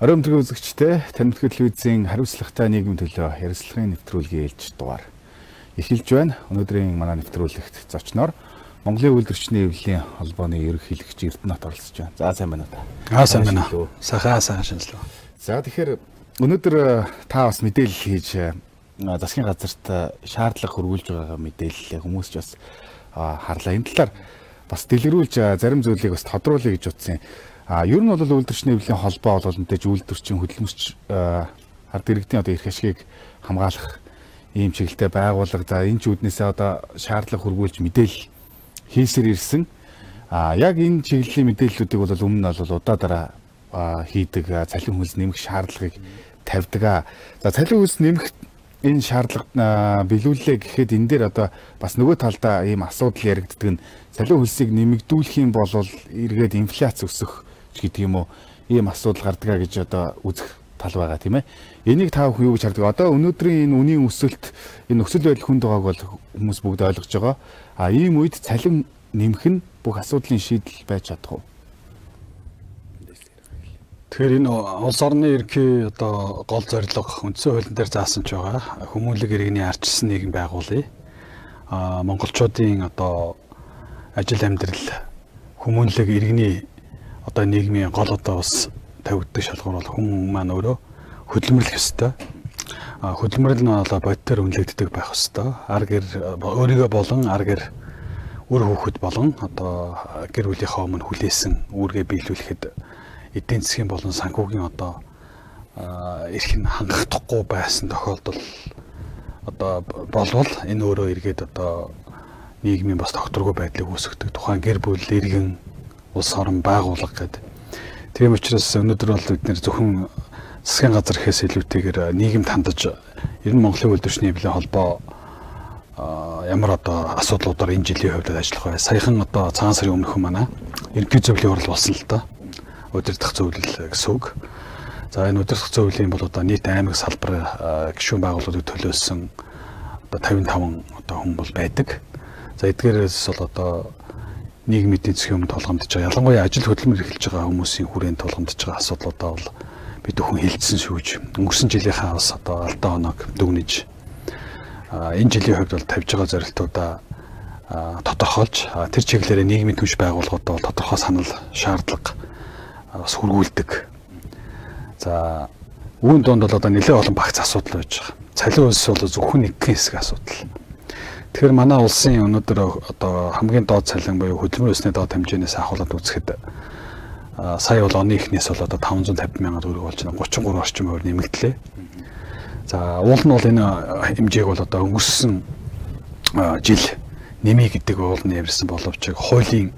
Ороймтгий үзэгчтэй Тамирт телевизийн хариуцлагатай нийгмийн төлөө ярилцлагын нэвтрүүлгийн ээлж дугаар эхэлж байна. Өнөөдрийн манай нэвтрүүлэгт зочноор Монголын үйлдвэрчний эвлэлийн холбооны ерөнхийлөгч Эрдэнэт оролцож байна. За сайн байна уу? Сайн байна. Сайхан шинжилгээ. За тэгэхээр өнөөдөр та бас мэдээлэл хийж засгийн газарт шаардлага хөрвүүлж байгаа мэдээлэл хүмүүс ч бас харлаа. Энэ талаар бас дэлгэрүүлж зарим зүйлийг бас тодруулъя гэж утсан. Ер нь бол үйлдвэрчний эвлэлийн холбоо бол мэдээж үйлдвэрчин хөдөлмөрч ард иргэдийн одоо эрх ашгийг хамгаалах ийм чиглэлтэй байгууллага. За энэ ч үүднээсээ одоо шаардлага хөрвүүлж мэдээлэл хийсээр ирсэн. Яг энэ чиглэлийн мэдээллүүдийг бол өмнө нь бол удаа дараа хийдэг цалин хөлс нэмэх шаардлагыг тавьдаг. За цалин хөлс нэмэх энэ шаардлага биелүүллээ гэхэд энэ дээр одоо бас нөгөө талдаа ийм асуудал яригддаг нь цалин хөлсийг нэмэгдүүлэх юм бол эргээд инфляц өсөх гэдэг юм уу ийм асуудал гардаг гэж одоо үзэх тал байгаа тийм ээ. Энийг та бүхэн юу гэж хардаг? Одоо өнөөдрийн энэ үнийн өсөлт энэ нөхцөл байдал хүнд байгааг бол хүмүүс бүгд ойлгож байгаа. Ийм үед цалин нэмэх нь бүх асуудлын шийдэл байж чадах уу? Тэгэхээр энэ улс орны ерөнхий одоо гол зорилго үндсэн хуулийн дээр заасан ч байгаа. Хүмүүнлэг иргэний арчилсан нийгэм байгуулъя. Монголчуудын одоо ажил амьдрал хүмүүнлэг иргэний одоо нийгмийн гол одоо бас тавигддаг шалгуур бол хүн маань өөрөө хөдөлмөрлөх ёстой. Хөдөлмөрлөл нь одоо бодитоор үнэлэгддэг байх ёстой. Ар гэр өөрийгөө болон ар гэр үр хүүхэд болон одоо гэр бүлийнхаа өмнө хүлээсэн үүргээ биелүүлэхэд эдийн засгийн болон санхүүгийн одоо эрх нь хангахдахгүй байсан тохиолдол одоо болвол энэ өөрөө эргээд одоо нийгмийн бас тогтворгүй байдлыг үүсгэдэг. Тухайн гэр бүл иргэн улс орон байгууллага гэдэг. Тийм учраас өнөөдөр бол бид нэр зөвхөн засгийн газар гэхээс илүүтэйгээр нийгэмд хандаж ер нь Монголын үйлдвэрчний эвлэлийн холбоо ямар одоо асуудлуудаар энэ жилийн хувьд ажиллах вэ? Саяхан одоо цагаан сарын өмнөхөн манай ерөнхий зөвлөлийн хурал болсон л да. Удирдах зөвлөл гэсэн үг. За энэ удирдах зөвлөлийн бол одоо нийт аймаг салбар гишүүн байгууллагыг төлөөсөн одоо 55 одоо хүн бол байдаг. За эдгээрээс бол одоо нийгмийн эдийн засгийн өмнө тулгамдж байгаа. Ялангуяа ажил хөдөлмөр эрхэлж байгаа хүмүүсийн хүрээнд тулгамдж байгаа асуудлуудаа бол бид өхөн хилцсэн шүүж. Өнгөрсөн жилийнхаа бас одоо алдаа оног дүгнэж энэ жилийн хувьд бол тавьж байгаа зорилтуудаа тодорхойлж тэр чиглэлээр нийгмийн түнш байгууллагуудаа бол тодорхой санал шаардлага бас хөргүүлдэг. За үүн донд бол одоо нэлээд олон багц асуудал байж байгаа. Цалин хөлс бол зөвхөн нэг хэсэг асуудал. Тэгэхээр манай улсын өнөөдөр одоо хамгийн доод цалин буюу хөдөлмөр өсний доод хэмжээнээс ахуулаад үзэхэд сая бол оны эхнээс бол одоо 550 сая төгрөг болж байна. 33 орчим хувь нэмэгдлээ. За уул нь бол энэ хэмжээг бол одоо өнгөрсөн жил нэмий гэдэг уулны явсан боловч хуулийн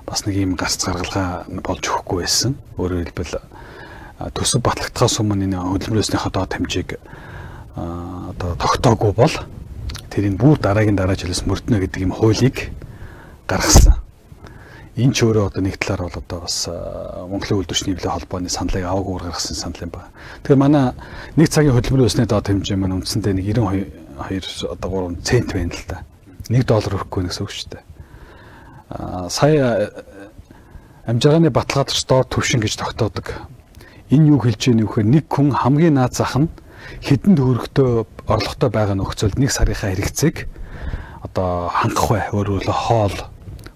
бас нэг юм гарц гаргалгаа болж өгөхгүй байсан. Өөрөөр хэлбэл төсөв батлагдахаас өмнө энэ хөдөлмөр өснийхөө доод хэмжээг одоо тогтоогүй бол тэрийг бүр дараагийн жилээс мөрднө гэдэг юм хуулийг гаргасан. Энэ ч өөрөө одоо нэг талаар бол одоо бас Монголын үйлдвэрчний эвлэлийн холбооны саналыг аваагүй гаргасан санал юм байна. Тэгэхээр манай нэг цагийн хөдөлмөрийн өсний доод хэмжээ маань үндсэндээ нэг 92 одоо 3 цент байна л да. $1 өгөхгүй гэсэн үг шүү дээ. Сая амжиргааны баталгаач доор төвшин гэж тогтоодог. Энэ юу хэлж ийнэ вэхээр нэг хүн хамгийн наад зах нь хэдэн төгрөгтэй орлоготой байгаа нөхцөлд нэг сарынхаа хэрэгцээг одоо хангах бай. Өөрөөр хэлбэл хоол,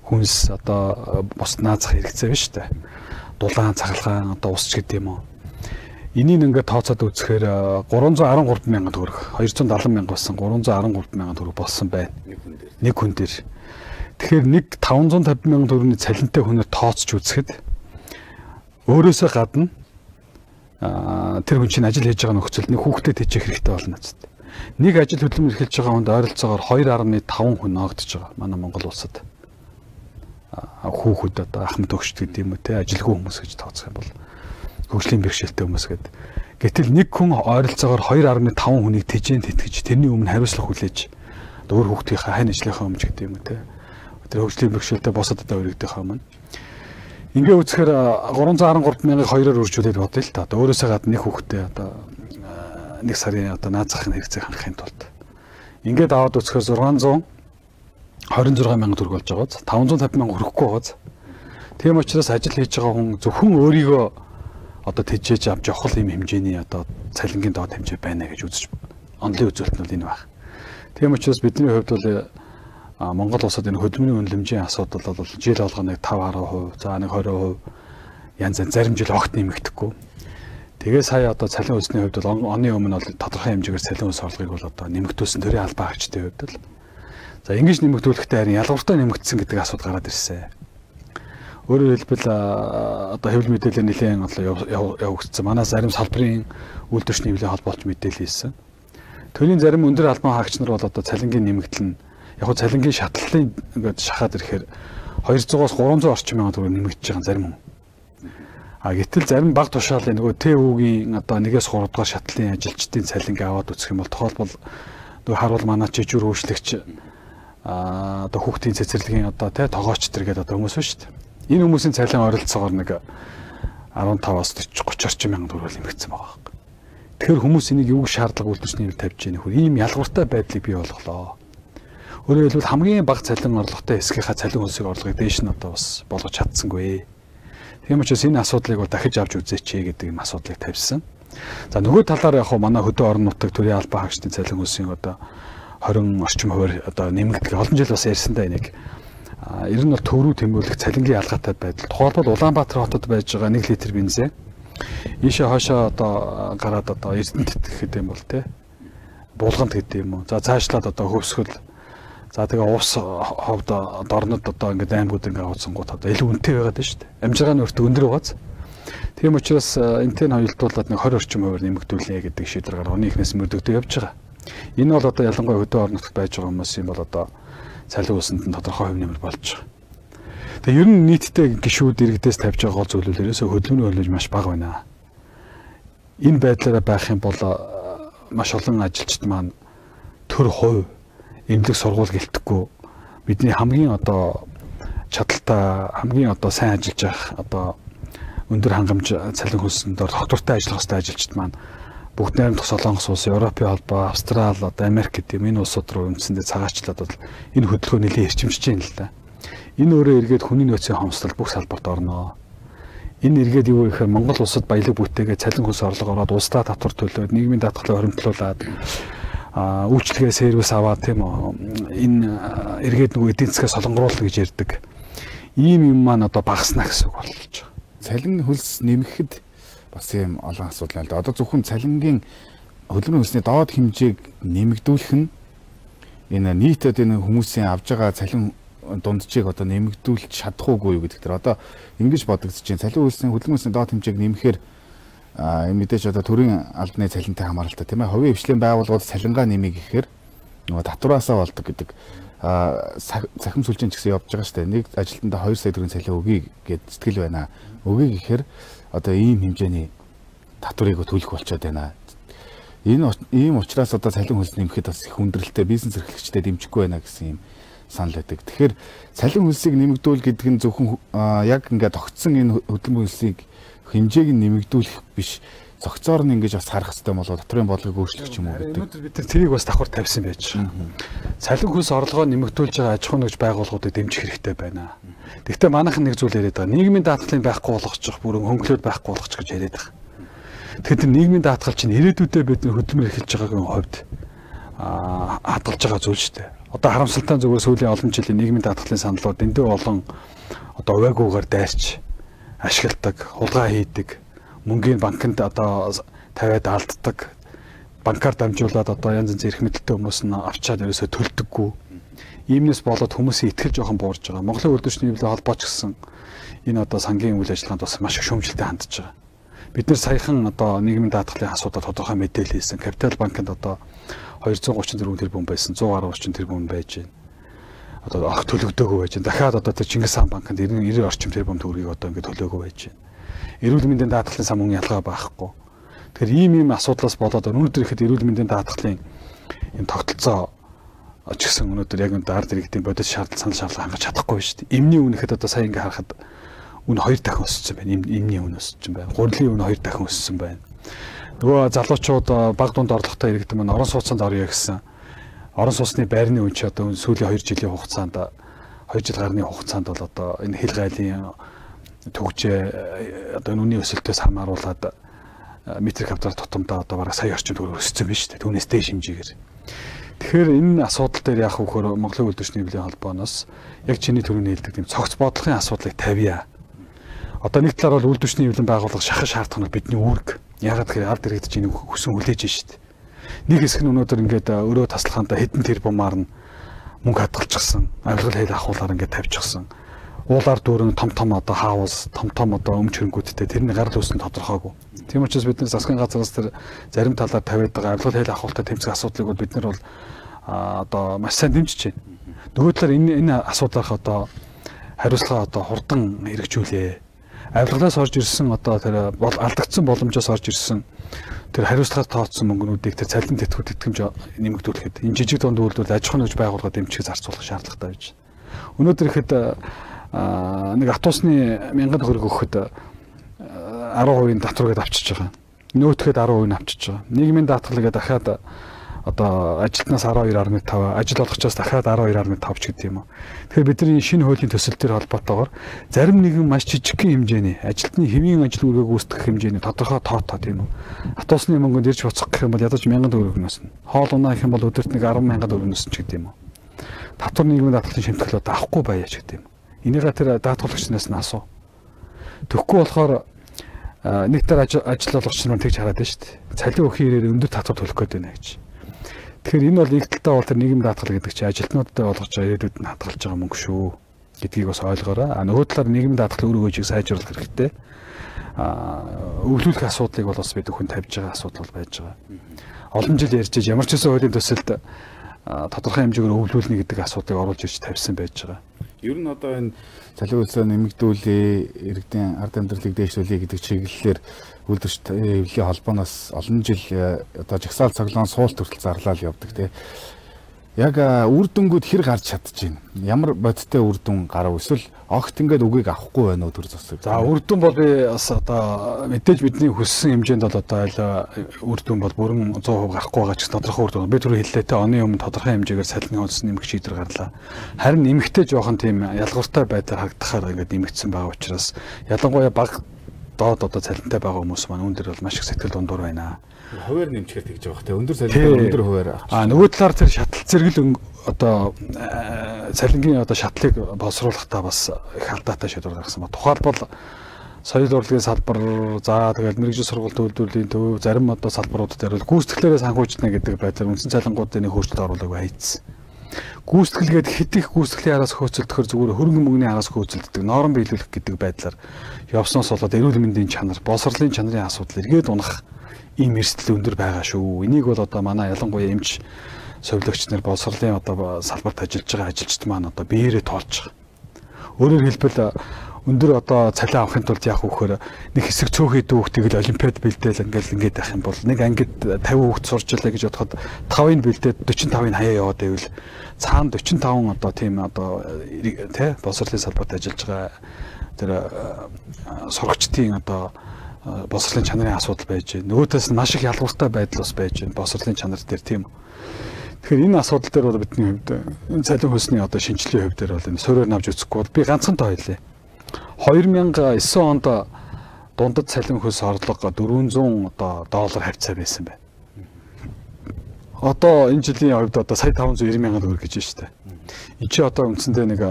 хүнс одоо бус наад зах хэрэгцээ биш үү? Дулаан, цахилгаан, одоо ус ч гэдэг юм уу. Энийг ингээд тооцоод үзэхээр 313 мянган төгрөг, 270 мянга болсон 313 мянган төгрөг болсон байна. Нэг хүн дээр. Тэгэхээр нэг 550 мянган төгрөгийн цалинтай хүнээр тооцож үзэхэд өөрөөсөө гадна тэр хүн чинь ажил хийж байгаа нөхцөлд нэг хүүхдэд тэжих хэрэгтэй болно гэдэг. Нэг ажил хөдөлмөр эрхэлж байгаа хүнд ойролцоогоор 2.5 хүн ногдож байгаа. Манай Монгол улсад хүүхэд одоо ах мэд өгчд гэдэг юм уу те ажилгүй хүмүүс гэж тооцох юм бол хөгжлийн бэрхшээлтэй хүмүүс гэдэг. Гэтэл нэг хүн ойролцоогоор 2.5 хүнийг тэжээнд тэтгэж тэрний өмнө хариуцлага хүлээж өөр хүүхдийнхээ хань ажлынхаа өмнө гэдэг юм уу те. Тэр хөгжлийн бэрхшээлтэй босоод одоо өргөдөхөө өмнө ингээ үзэхээр 313 мянгаыг 2-оор үржүүлээд бодъё л та. Өөрөөсөө гадна нэг хүүхдээ одоо нэг сарын одоо наад захын хэрэгцээг хангахын тулд ингээд аваад үзэхээр 626 мянга төгрөг болж байгааз 550 мянга хүрэхгүй байгааз. Тийм учраас ажил хийж байгаа хүн зөвхөн өөрийгөө одоо тэжээж авч явах юм хэмжээний одоо цалингийн доод хэмжээ байна гэж үзэж онлын үзүүлэлт нь энэ баг. Тийм учраас бидний хувьд бол Монгол улсад энэ хөдөлмөрийн үнэлэмжийн асуудал бол жил болгоно 5-10%, за нэг 20% янз янз зарим жил огт нэмэгдэхгүй. Тэгээ сая одоо цалин хөлсний хувьд бол оны өмнө бол тодорхой хэмжээгээр цалин хөлс орлогыг бол одоо нэмэгдүүлсэн төрийн албан хаагчдын хувьд л. За ингэж нэмэгдүүлэхдээ харин ялгууртай нэмэгдсэн гэдэг асуудал гараад ирсэн. Өөрөөр хэлбэл одоо хэвлэл мэдээлэл нэлээд одоо явагдсан. Манай зарим салбарын үйлдвэрчний нэмлэгийн холбоолт мэдээлэл хийсэн. Төрийн зарим өндөр албан хаагч нар бол одоо цалингийн нэмэгдэл нь яг нь цалингийн шатлалын ингээд шахаад ирэхээр 200-аас 300 орчим мянган төгрөг нэмэгдэж байгаа зарим хүн. Гэтэл зарим баг тушаалын нөгөө ТÜ-гийн одоо 1-3 дугаар шатлалын ажилчдын цалинг аваад үзэх юм бол тохиолбол нөгөө харуул манай жижиг хөгжлөгч одоо хүүхдийн цэцэрлэгийн одоо тогооч төр гэдэг одоо хүмүүс шүү дээ. Энэ хүмүүсийн цалин ойролцоогоор нэг 15-аас 30 орчим мянган төгрөг нэмэгдсэн байгаа юм. Тэгэхээр хүмүүс энийг юу шаардлага үйлдвэрчний нэмэлт тавьж яах вэ? Ийм ялгууртай байдлыг бий болголоо. Өөрөөр хэлбэл хамгийн бага цалин орлоготой хэсгийнхаа цалин хөлсийг орлогыг дээш нь одоо бас болгож чадсангүй. Тийм учраас энэ асуудлыг бол дахиж авч үзээч гэдэг юм асуудлыг тавьсан. За нөгөө талаар яг манай хөдөө орон нутаг төрийн албан хаагчдын цалин хөлсийн одоо 20 орчим хувиар одоо нэмэгдэх олон жил бас ярьсандаа энийг ер нь бол төв рүү тэмүүлэх цалингийн ялгаатай байдал. Тухайлбал Улаанбаатар хотод байж байгаа 1 литр бензин ийшээ хоошоо одоо гараад одоо Эрдэнэт гэхэд юм бол булганд гэдэг юм уу. За цаашлаад одоо хөвсгөл. За тэгээ уус ховд дорнод одоо ингээд аймагуд ингээд авцсангууд одоо илүү үнэтэй байгаад байна шүү дээ. Амжиргааны өртөг өндөр байгааз. Тийм учраас энтэн хоёултуулаад нэг 20 орчим хувиар нэмэгдүүлнэ гэдэг шийдвэр гаргаж оны эхнээс мөрдөгдөж явж байгаа. Энэ бол одоо ялангуяа хөдөө орон нутагт байж байгаа хүмүүсийн бол одоо цалин хөлсөнд нь тодорхой хувь нэмэр болж байгаа. Тэгээ ер нь нийтдээ гишүүд иргэдээс тавьж байгаа гол зөвлөлөөс хөдөлмөрийн хөлөж маш бага байна. Энэ байдлаараа байх юм бол маш олон ажилчид маань төр хувь эмнэлэг сургууль гэлтэхгүй бидний хамгийн одоо чадaltaй хамгийн одоо сайн ажиллаж явах одоо өндөр хангамж цалин хөлсөнд доктортой ажиллах хэвээр ажилчид маань бүгд найрамдах Солонгос улс, Европын холбоо, Австрал, одоо Америк гэдэг энэ улсууд руу үндсэндээ цагаачлаад бол энэ хөдөлгөөн нэлээд эрчимжиж байна л да. Энэ өөрөө эргээд хүний нөөцийн хомсдол бүх салбарт орно. Энэ эргээд юу гэхээр Монгол улсад баялаг бүтээгээ цалин хөлс орлого ороод улсдаа татвар төлөөд нийгмийн даатгалыг хоримтлуулад үйлчлэгээ сервис аваад тийм үү энэ эргээд нөгөө эдийн засгаа солонгоруулна гэж ярьдаг. Ийм юм маань одоо багаснаа гэсэн үг болж байгаа. Цалин хөлс нэмэхэд бас юм олон асуудал байна л да. Одоо зөвхөн цалингийн хөдөлмөрийн хөлсний доод хэмжээг нэмэгдүүлэх нь энэ нийтэд энэ хүмүүсийн авж байгаа цалин дунджийг одоо нэмэгдүүлж чадах уугүй юу гэдэг дээр одоо ингэж бодогдож байна. Цалин хөлсний хөдөлмөрийн хөлсний доод хэмжээг нэмэхээр мэдээж одоо төрийн албаны цалинтай хамааралтай тийм ээ. Хувийн хвшлийн байгууллагууд цалингаа нэмийг гэхээр нөгөө татвараасаа болдог гэдэг цахим сүлжээний ч гэсэн явж байгаа шүү дээ. Нэг ажилтнаа 2 сая төгрөгийн цалин өгье гэд сэтгэл байна. Өгье гэхээр одоо ийм хэмжээний татварыг төлөх болчиход байна. Ийм учраас одоо цалин хөлс нэмэхэд бас их хүндрэлтэй бизнес эрхлэгчдэд дэмжихгүй байна гэсэн юм санал байдаг. Тэгэхээр цалин хөлсийг нэмэгдүүл гэдэг нь зөвхөн яг ингээд тогтсон энэ хөдөлмөрийн хөлсийг хэмжээг нь нэмэгдүүлэх биш. Зохицоор нь ингэж бас харах хэрэгтэй болоо дотрын бодлогыг өөрчлөх юм уу гэдэг. Өнөөдөр бид тэрийг бас давхар тавьсан байж байгаа. Цалин хөлс орлогоо нэмэгдүүлж байгаа аж ахуй нэгж байгууллагуудыг дэмжих хэрэгтэй байна. Гэхдээ манайхан нэг зүйл яриад байгаа. Нийгмийн даатгалыг байхгүй болгочих, бүрэн хөнгөлөд байхгүй болгочих гэж яриад байгаа. Тэгэхээр нийгмийн даатгал чинь ирээдүйдээ бид хөдөлмөр эхэлж байгаагийн хувьд хадгалж байгаа зүйл шүү дээ. Одоо харамсалтай зүгээр сүүлийн олон жилийн нийгмийн даатгалын саналууд эндээ олон одоо увайгүйгээр дайрч ашигладаг, хулгай хийдэг, мөнгөний банкнд одоо тавиад алддаг, банкар дамжуулаад одоо янз янз эрх мэдэлтэй хүмүүс нь авчаад ерөөсөө төлдөггүй. Иймнээс болоод хүмүүсийн итгэл жоохон буурж байгаа. Монголын үйлдвэрчний нэмлэгийн холбооч гэсэн энэ одоо сангийн үйл ажиллагаанд бас маш их шүүмжлэлтэй хандж байгаа. Бид нэр саяхан одоо нийгмийн даатгалын асуудал тодорхой мэдээлэл хийсэн. Капитал банкнд одоо 234 тэрбум байсан, 110 орчим тэрбум байж байна. Одоо ах төлөгдөөгүй байж байна. Дахиад одоо Чингис хаан банкнд 90 орчим тэрбум төгрөгийг одоо ингэ төлөөгүй байж байна. Эрүүл мэндийн даатгалын сан мөнгө ялгаа байхгүй. Тэгэхээр ийм асуудлаас болоод өнөөдөр ихэд эрүүл мэндийн даатгалын энэ тогтолцоо ч гэсэн өнөөдөр яг энэ ард иргэдийн бодит санал шаардлага хангаж чадахгүй шүү дээ. Эмний үн ихэд одоо сая ингэ харахад үн 2 дахин өссөн байна. Эмний үн өссөн байна. Гурилын үн 2 дахин өссөн байна. Нөгөө залуучууд баг дунд орлоготой иргэдэн маань орон сууцанд орё гэсэн. Орон сууцны байрны үн чи одоо сүүлийн 2 жилийн хугацаанд 2 жил гарны хугацаанд бол одоо энэ хил гайлын төгжээ одоо нүуний өсөлтөөс хамааруулаад метр квадрат тутамдаа одоо бараг сая орчим төгрөг өссөн байна шүү дээ. Түүнээс дээш хэмжээгээр. Тэгэхээр энэ асуудал дээр яах вэ гэхээр Монголын үйлдвэрчний нэвлийн холбооноос яг чиний түрүүний хэлдэг тийм цогц бодлогын асуудлыг тавья. Одоо нэг талаар бол үйлдвэрчний нэвлэн байгуулах шахах шаардлага нь бидний үүрэг. Ягаад гэхээр ард иргэд чинь хүсэн хүлээж шүү дээ. Нэг хэсэг нь өнөөдөр ингээд өрөө таслахаанда хэдэн тэрбумаар нь мөнгө хадгалчихсан. Авилгал хэл ахуулаар ингээд тавьчихсан. Уулаар дүүрэн том одоо хаус, том одоо өмч хөрөнгүүдтэй тэрний гарал үүсэн тодорхойгүй. Тийм учраас бид нар засгийн газраас тэр зарим талаар тавиад байгаа авилгал хэл ахуултаа тэмцэх асуудлыг бол бид нар бол одоо маш сайн дэмжиж байна. Нөгөө талаар энэ асуудлаарх одоо хариуцлага одоо хурдан хэрэгжүүлээ. Авилгалаас орж ирсэн одоо тэр алдагдсан боломжоос орж ирсэн тэр хариуцлагаар тооцсон мөнгнүүдийг тэр цалин тэтгэврт итгэмж нэмэгдүүлэхэд энэ жижиг дунд үйлдвэрлэл аж ахуйн байгууллагад дэмжих зарцуулах шаардлагатай байж байна. Өнөөдөр ихэд нэг автобусны 1000 төгрөг өгөхөд 10% татварыг авчиж байгаа. Нөөтгээд 10% авчиж байгаа. Нийгмийн даатгалыг дахиад одоо ажилтнаас 12.5, ажил олгочоос дахиад 12.5 ч гэдэг юм уу. Тэгэхээр бидний шинэ хуулийн төсөл төр холбоотойгоор зарим нэгэн маш жижигхэн хэмжээний ажилтны хэвийн ажил үргээг гүйцэтгэх хэмжээний тодорхой тоотой тийм үү. Автобусны мөнгөнд ирж буцах гэх юм бол ядаж 1000 төгрөг нөснө. Хоол унаа гэх юм бол өдөрт нэг 100000 төгрөг нөснө ч гэдэг юм уу. Татвар нийгмийн даатгалын шимтгэлүүд авахгүй байя ч гэдэг юм. Энийгээ тэр даатгуулагчнаас нь асуу. Тэгэхгүй болохоор нэг төр ажил олгогч нар тэгж хараад байна шүү дээ. Цалин өгөх хэрээр өндөр татвар төлөх гээд байна гэж. Тэгэхээр энэ бол нэг талдаа бол тэр нийгэм даатгал гэдэг чинь ажилтнуудад олгож байгаа ирээдүйд нь хадгалж байгаа мөнгө шүү гэдгийг бас ойлгоорой. Нөгөө талаар нийгэм даатгал үр өгөөжийг сайжруулах хэрэгтэй. Өвлүүлэх асуудлыг бол бас бид хүн тавьж байгаа асуудал бол байж байгаа. Олон жил ярьж ямар ч үсэн хуулийн төсөлд тодорхой хэмжээгээр өвлүүлнэ гэдэг асуудлыг оруулж ирж тавьсан байж байгаа. Ер нь одоо энэ цалин хөлсөө нэмэгдүүлээ, иргэдийн ард амьдралыг дээшлүүлээ гэдэг чиглэлээр үйлдвэрчдийн хэвлэлийн холбооноос олон жил одоо жагсаал цоглоон суулт хүртэл зарлал явдаг тий. Яг үр дүнгууд хэр гарч чадчихэв. Ямар бодиттой үр дүн гарав эсвэл огт ингээд үгийг авахгүй байна уу төр засаг. За үр дүн бол би бас одоо мэдээж бидний хүссэн хэмжээнд бол одоо айл үр дүн бол бүрэн 100% гарахгүй байгаа ч тодорхой үр дүн. Би түрүү хэллээ те оны өмнө тодорхой хэмжээгээр цалингийн хөлс нэмэх шийдвэр гарлаа. Харин нэмэхдээ жоохон тийм ялгууртай байдлаар харагдахаар ингээд нэмэгдсэн байгаа учраас ялангуяа баг доод одоо цалинтай байгаа хүмүүс маань үүн дээр бол маш их сэтгэл дундуур байна. Хуваар нэмчгээр тэгж байгаа те өндөр цалинтай өндөр хуваар. Нөгөө талаар тэр шатал зэрэгэл одоо цалингийн одоо шатлыг боловсруулахдаа бас их алдаатай шийдвэр гаргасан ба. Тухайлбал соёл урлагийн салбар, за тэгэл мэрэгжил сургалт үйлдвэрлэлийн төв, зарим одоо салбарууд дээр бол гүйцэтгэлээрээ санхүүжтна гэдэг байдлаар үндсэн цалингуудын нэг хөрчлөлт оруулаагүй хайцсан. Гүйцэтгэлгээд хэд их гүйцэтгэлийн араас хөөцөлдөхөр зүгээр хөрөнгө мөнгөний араас хөөцөлддөг, норм биелүүлэх гэдэг байдлаар явсноос болоод эрүүл мэндийн чанар, боловсролын чанарын асуудал эргээд унах ийм эрсдэл өндөр байгаа шүү. Энийг бол одоо манай ялангуяа эмч совилогч нар боловсролын одоо салбарт ажиллаж байгаа ажилчид маань одоо биеэрээ тоолж байгаа. Өөрөөр хэлбэл өндөр одоо цалин авахын тулд яах вэ гэхээр нэг хэсэг цөөхөд хүүхдийг л олимпиад бэлдээл ингээд байх юм бол нэг ангид 50 хүүхд сурч илээ гэж бодоход 5-ыг бэлдээд 45-ыг хаяа яваад байвал цаана 45 одоо тийм одоо тий боловсролын салбарт ажиллаж байгаа тэр сурагчдын одоо боловсролын чанарын асуудал байж байна. Нөгөөдөөс нь маш их ялгууртай байдал бас байж байна. Боловсролын чанар дээр тийм. Тэгэхээр энэ асуудал дээр бол бидний хувьд энэ цалин хөлсний одоо шинжилгээний хувьд дээр бол энэ суурьаар навж үзэхгүй бол би ганцхан тоо хэлье. 2009 онд дундад цалин хөлс орлого 400 одоо доллар хавцаа байсан байна. Одоо энэ жилийн хувьд одоо сая 590 мянган төгрөг гэж байна шүү дээ. Энд чи одоо үндсэндээ нэг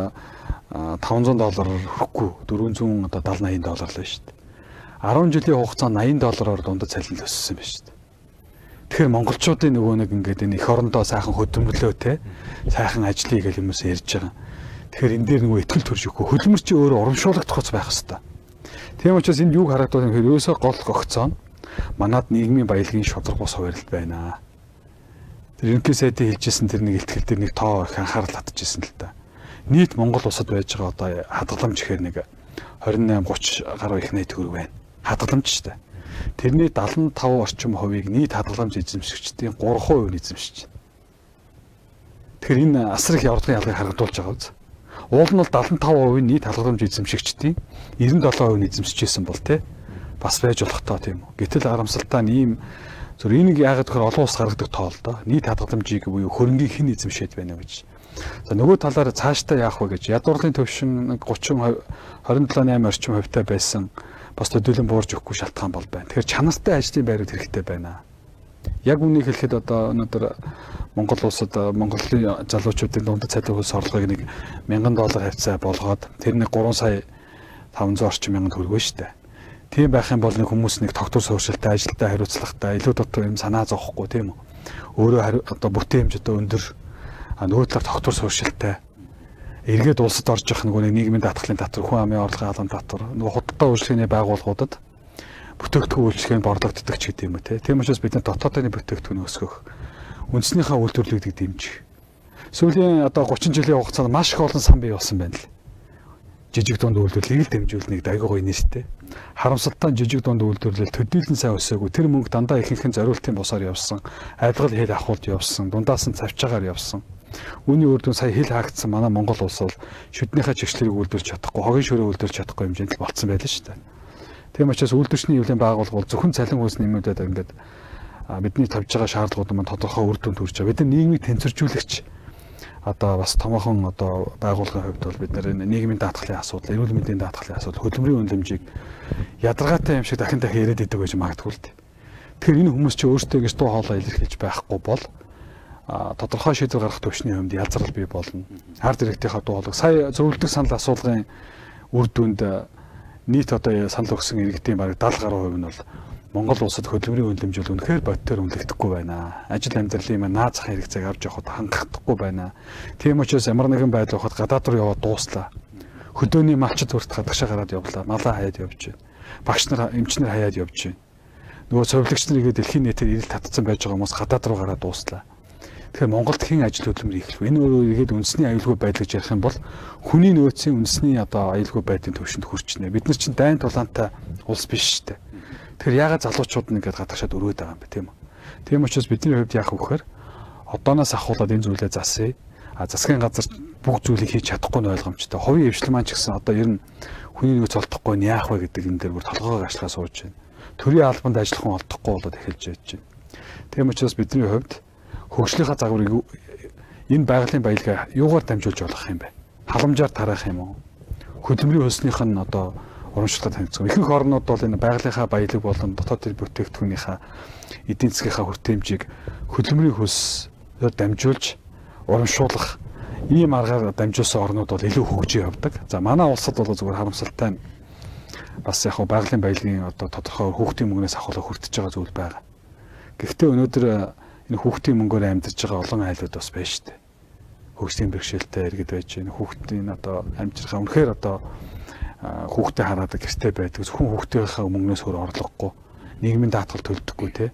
$500 хүрэхгүй 400 одоо 70-80 доллар л байна шүү дээ. 10 жилийн хугацаанд $80 дундад цалин л өссөн байна шүү дээ. Тэгэхээр монголчуудын нөгөө нэг ингээд энэ эх орондоо сайхан хөдөлмөрлөө те сайхан ажлыг гэл хүмүүс ярьж байгаа. Тэгэхээр энэ дээр нөгөө ихтгэл төрж өгөхгүй хөдөлмөр чи өөрөө урамшуулагдах хоц байх хэвээр. Тийм учраас энд юг харагдаад юм хэрэг ерөөсөө гол гогцоо манад нийгмийн баялагын шудраг бус хуваарлт байна. Тэр ерөнхий сайдын хэлжсэн тэр нэг ихтгэл дээр нэг тоо их анхаарал татчихсан л та. Нийт Монгол улсад байж байгаа одоо хадгаламж гэхээр нэг 28-30 гаруй их найт төгрөг байна. Хадгаламж шүү дээ. Тэрний 75 орчим хувийг нийт хадгаламж эзэмшигчдийн 3% эзэмшиж байна. Тэгэхээр энэ асар их явдгын ялгыг харагдуулж байгаа үз. Уул нь бол 75% нийт хадгаламж эзэмшигчдийн 97% эзэмшижсэн бол те бас байж болох тоо тийм үү. Гэтэл харамсалтай нь ийм зөв энийг яагаад гэхээр олон улс гаргадаг тоо л доо. Нийт хадгаламжийг буюу хөрөнгийг хэн эзэмшээд байна вэ гэж. За нөгөө талаар цаашдаа яах вэ гэж ядуурлын төвшин 27.8 орчим хувьтай байсан бас төдийлөн буурж өгөхгүй шалтгаан бол байна. Тэгэхээр чанартай ажлын байрууд хэрэгтэй байна. Яг үнийг хэлэхэд одоо өнөөдөр Монгол улсад Монголын залуучуудын дундад цалин хөлс орлогыг $1,000 хавцаа болгоод тэр нэг 3 сая 500 орчим мянган төгрөг шүү дээ. Тийм байх юм бол нэг хүмүүс нэг тогтвор суурьшилтай, ажилтаа хариуцлагатай, илүү дотор юм санаа зовхгүй тийм үү? Өөрөө одоо бүтээн хэмжээтэй өндөр, нөгөө талаар тогтвор суурьшилтай эргээд улсад орж явах нөгөө нийгмийн даатгалын татвар, хүн амын орлогын халуун татвар, нөгөө худалдаа үйлчлэгээний байгууллагуудад бүтээгдэхүүн үйлчлэгээ нь борлогддог ч гэдэг юм уу тийм учраас бид дотоодын бүтээгдэхүүн өсгөх, үндснийхээ үйлдвэрлэлийг дэмжих. Сүүлийн одоо 30 жилийн хугацаанд маш их олон сан бий болсон байна л. Жижиг дунд үйлдвэрлэлийг дэмжүүлнэ гэдэг айгүй гоё нэртэй. Харамсалтай жижиг дунд үйлдвэрлэл төдийлөн сайн өсөөгүй. Тэр мөнгө дандаа ихэнх нь зориултын босоор явсан. Айлгал хэл ахуулж явсан. Дундаас нь цавчаагаар явсан. Үүний үр дүн сая хэл хаагдсан манай Монгол улс бол шүднийхээ чигшлэрийг үйлдвэрлэж чадахгүй, хогийн шөрөө үйлдвэрлэж чадахгүй хэмжээнд л болцсон байлаа шүү дээ. Тийм учраас үйлдвэрчний эвлэлийн байгууллага бол зөвхөн цалин хөлс нэмүүлээд ингээд бидний тавьж байгаа шаардлагууд маань тодорхой үр дүнд хүрч байгаа. Бид нар нийгмийг тэнцвэржүүлэгч одоо бас томоохон одоо байгууллагын хувьд бол бид нар нийгмийн даатгалын асуудал, эрүүл мэндийн даатгалын асуудал, хөдөлмөрийн үнэлэмжийг ядаргаатай юм шиг дахин дахин яриад идэг байж магадгүй л дээ. Тэгэхээр энэ хүмүүс чи өөрсдөө гэж дуу хоолой илэрхийлж байхгүй бол тодорхой шийдвэр гаргах төвшний хувьд ялзрал бий болно. Ард иргэдийнхээ дуу хоолойг сая зөвлөлтөг санал асуулгын үр дүнд нийт одоо санал өгсөн иргэдийн бараг 70% нь бол Монгол улсад хөдөлмөрийн үнэлэмж бол үнэхээр бодитоор үнэлэгдэхгүй байна. Ажил амьдралын наад зах хэрэгцээг авч явахад хангахдаггүй байна. Тийм учраас ямар нэгэн байдал ухад гадаад руу яваад дууслаа. Хөдөөний малчд хүрт хадагшаа гараад явлаа. Малаа хаяад явж байна. Багш нар, эмчнэр хаяад явж байна. Нөгөө совилогч нар игээд дэлхийн нийтээр ирэл татцсан байж байгаа хүмүүс гадаад руу гараад дууслаа. Тэгэхээр Монголд хэн ажил хөдөлмөр хийх вэ? Энэ өөрөө игээд үндэсний аюулгүй байдал гэж ярих юм бол хүний нөөцийн үндэсний одоо аюулгүй байдлын төвшөнд хүрчнэ. Бид нар чинь дайн тулаантай улс биш шүү дээ. Тэгэхээр яагаад залуучууд нь ингээд гадагшаад өрөөд байгаа юм бэ тийм үү? Тийм учраас бидний хувьд яах вэ гэхээр одооноос ахуулаад энэ зүйлээ засъя. Засгийн газар бүх зүйлийг хийж чадахгүй нь ойлгомжтой. Хувийн эвшлэл маань ч гэсэн одоо ер нь хүний нөөц олдохгүй нь яах вэ гэдэг энэ дээр бүр толгойгоо ашиглаа сууж байна. Төрийн албанд ажиллах хүн олдохгүй болоод эхэлж байж байна. Тийм учраас бидний хувьд хөгжлийнхаа загварыг энэ байгалийн баялгаа юугаар дамжуулж болох юм бэ? Халамжаар тараах юм уу? Хөдөлмөрийн хөлснийх нь одоо урамшилтад танилцсан. Ихэнх орнууд бол энэ байгалийнхаа баялаг болон дотоод бүтээгдэхүүнийхээ эдийн засгийнхаа хүртээмжийг хөдөлмөрийн хөлсөөр дамжуулж урамшуулах ийм аргаар дамжуулсан орнууд бол илүү хөгжиж явдаг. За манай улсад бол зөвхөн харамсалтай бас яг байгалийн баялагын одоо тодорхой хүүхдийн мөнгнөөс авахлаа хүртэж байгаа зүйл байгаа. Гэхдээ өнөөдөр энэ хүүхдийн мөнгөөр амьдарч байгаа олон айлууд бас байна шүү дээ. Хөгжлийн бэрхшээлтэй иргэд байж байна. Хүүхдийн одоо амжирхаа үнэхээр одоо хүүхдээ хараад гэртээ байдаг. Зөвхөн хүүхдийнхээ мөнгнөөс өөр орлогогүй. Нийгмийн даатгал төлдөггүй те.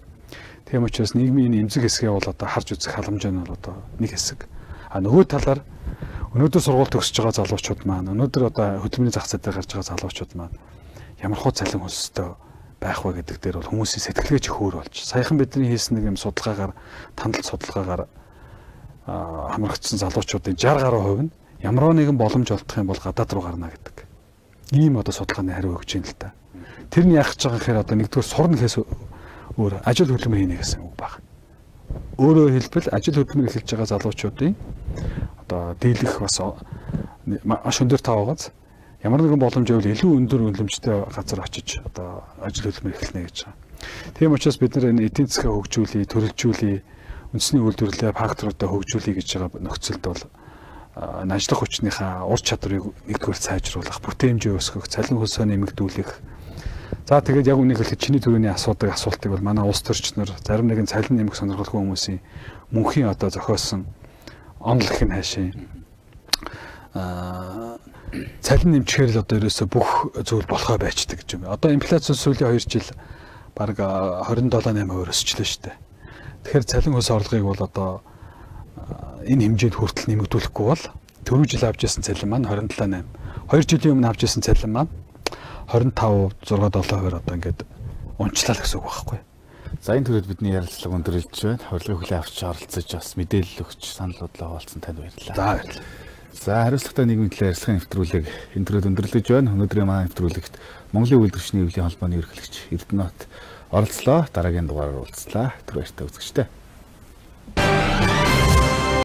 Тийм учраас нийгмийн эмзэг хэсгээ бол одоо харж үзэх халамж нь бол одоо нэг хэсэг. Нөгөө талаар өнөөдөр сургууль төгсөж байгаа залуучууд маань өнөөдөр одоо хөдөлмөрийн зах зээл дээр гарч байгаа залуучууд маань ямар хуу цалин хөлстэй байх вэ гэдэг дээр бол хүмүүсийн сэтгэлгээ ч хөөр болж. Саяхан бидний хийсэн нэг юм судалгаагаар тандалт судалгаагаар хамрагдсан залуучуудын 60% нь ямар нэгэн боломж олдох юм бол гадаад руу гарна гэдэг. Ийм одоо судалгааны хариу өгч юм л та. Тэр нь яах гэж байгаа гэхээр одоо нэгдүгээр сурна гэхээс өөр ажил хөдөлмөр хийнэ гэсэн үг байна. Өөрөөр хэлбэл ажил хөдөлмөр эхэлж байгаа залуучуудын одоо дийлэх бас маш өндөр таваагаас ямар нэгэн боломж байвал илүү өндөр үнэлэмжтэй газар очиж одоо ажил хөдөлмөр эхэлнэ гэж байгаа. Тийм учраас бид нар энэ эдийн засгаа хөгжүүлээ, төрөлжүүлээ, үндэсний үйлдвэрлэлээ факторуудаа хөгжүүлээ гэж байгаа нөхцөлд бол ажиллах хүчнийхээ ур чадварыг нэгдүгээр сайжруулах, бүтээн хэмжээ өсгөх, цалин хөлсөө нэмэгдүүлэх. За тэгээд яг үнийг хэлэхэд чиний төрөний асуултыг бол манай улс төрчнөр зарим нэгэн цалин нэмэх сонирхолтой хүмүүсийн мөнхийн одоо зохиосон онол гэх нь хаашаа. Цалин нэмчихээр л одоо ерөөсө бүх зүйл болохоо байцдаг гэж юм. Одоо инфляци сүүлийн 2 жил бараг 27.8% өсчлөө шүү дээ. Тэгэхээр цалин хөлс орлогыг бол одоо энэ хэмжээнд хүртэл нэмэгдүүлэхгүй бол түрүү жил авч ирсэн цалин маань 27.8. 2 жилийн өмнө авч ирсэн цалин маань 25, 6-7% одоо ингээд унчлаа л гэсэн үг байхгүй. За энэ төрөд бидний ярилцлага өндөрлөж байна. Урилгын хүлээн авч оролцож бас мэдээлэл өгч саналуудлаа хуваалцсан танд баярлалаа. За баярлалаа. За хариуцлагатай нийгмийн төлөө ярилцлагын нэвтрүүлэг энэ төрөд өндөрлөж байна. Өнөөдрийн манай нэвтрүүлэгт Монголын үйлдвэрчний эвлэлийн холбооны ерөнхийлөгч Эрдэнэт оролцлоо. Дараагийн дугаараар уулзлаа. Тэр баяртай үзэгчтэй.